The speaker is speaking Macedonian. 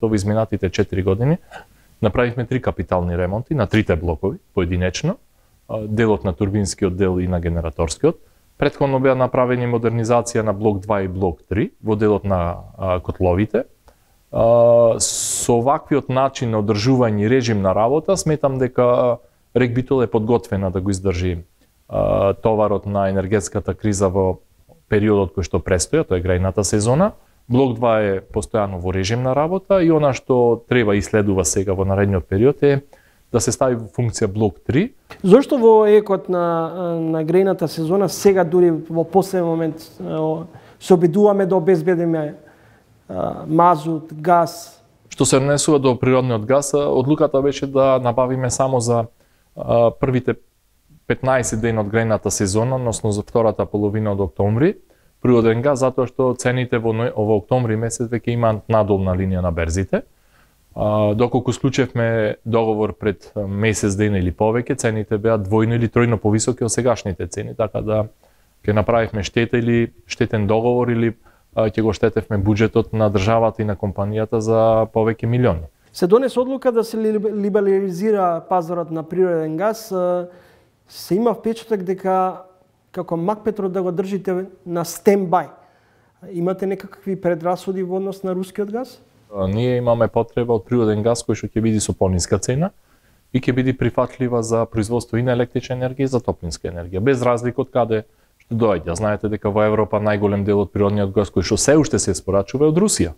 Во изминатите 4 години направивме 3 капитални ремонти на трите блокови поединечно, делот на турбинскиот дел и на генераторскиот. Претходно беа направени модернизација на блок 2 и блок 3 во делот на котловите. Со оваквиот начин на одржување и режим на работа, сметам дека РЕК Битол е подготвена да го издржи товарот на енергетската криза во периодот кој што престоја, тоа е грајната сезона. Блок 2 е постојано во режим на работа и она што треба и следува сега во наредниот период е да се стави во функција блок 3. Зошто во екот на грејната сезона сега дури во последен момент се обидуваме да обезбедиме мазут, газ? Што се однесува до природниот газ, одлуката беше да набавиме само за првите 15 дена од грејната сезона, односно за втората половина од октомври, природен газ, затоа што цените во октомври месец веќе имаат надолна линија на берзите. Доколку склучевме договор пред месец дена или повеќе, цените беа двојно или тројно повисоки од сегашните цени, така да ќе направивме штета или штетен договор или ќе го штетевме буџетот на државата и на компанијата за повеќе милиони. Се донесе одлука да се либерализира пазарот на природен газ. Се има впечаток дека како Макпетро да го држите на стендбај. Имате некакви предрасуди во однос на рускиот газ? Ние имаме потреба од природен газ кој што ќе биде со пониска цена и ќе биде прифатлива за производство и на електрична енергија и за топлинска енергија, без разлика од каде што доаѓа. Знаете дека во Европа најголем дел од природниот газ кој што се уште се испорачува е од Русија.